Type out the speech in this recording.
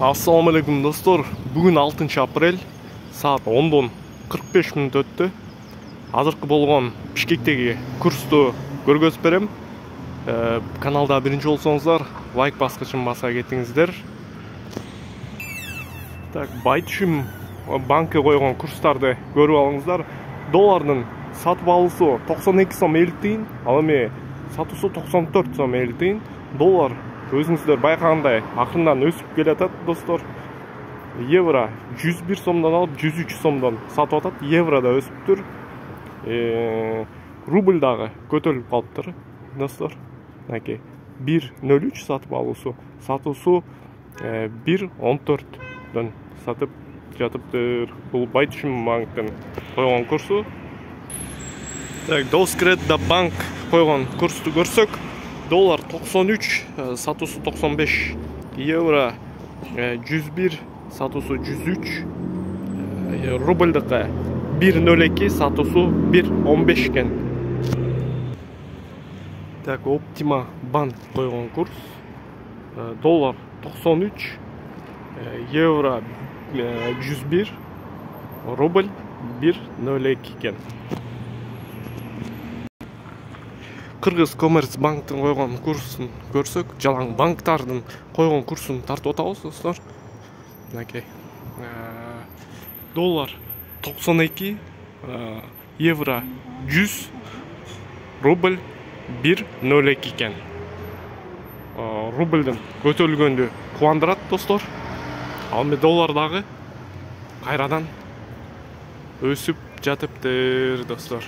Assalamu alaikum dostlar. Bugün 6 aprel saat 10'dan 45 minut öttü. Azırkı bolğon Bişkектegi kurstu көргөзүп берем. Kanalda birinci olsanızlar like baskычын баса кетиңиздер. Так, Байтүшүм банкы койгон курстарды көрүп алыңыздар. Доллардын сатып алуусу 92 сом 50 тиын, ал эми сатуусу 94 сом 50 тиын. Доллар өзүңүздөр байкагандай акырындан өсүп келатат достор. Евро 101 сомдон алып 103 сомдон сатып атат. Евро да өсүптүр. Рубль дагы көтөрүлүп калыптыр достор. Мынакей 1.03 сатып алуусу, сатуусу 1.14дөн сатып жатыптыр. Бул Байтүшүм банктын койгон курсу. Так, Доскредда банк койгон курсту көрсөк, доллар 93, сатуусу 95, евро 101, сатуусу 103, рубльдыкы 1.02, сатуусу 1.15 экен. Так, Оптима банк койгон курс, доллар 93, евро 101, рубль 1.02 экен. Кыргыз Коммерц банктын койгон курсун көрсөк, жалаң банктардын койгон курсун тартып атабыз достор. Мынакей. Доллар 92, евро 100, рубль 1.02 экен. Рубльдин көтөрүлгөндү кубандырат достор. Ал эми доллар дагы кайрадан өсүп жатыптыр достор.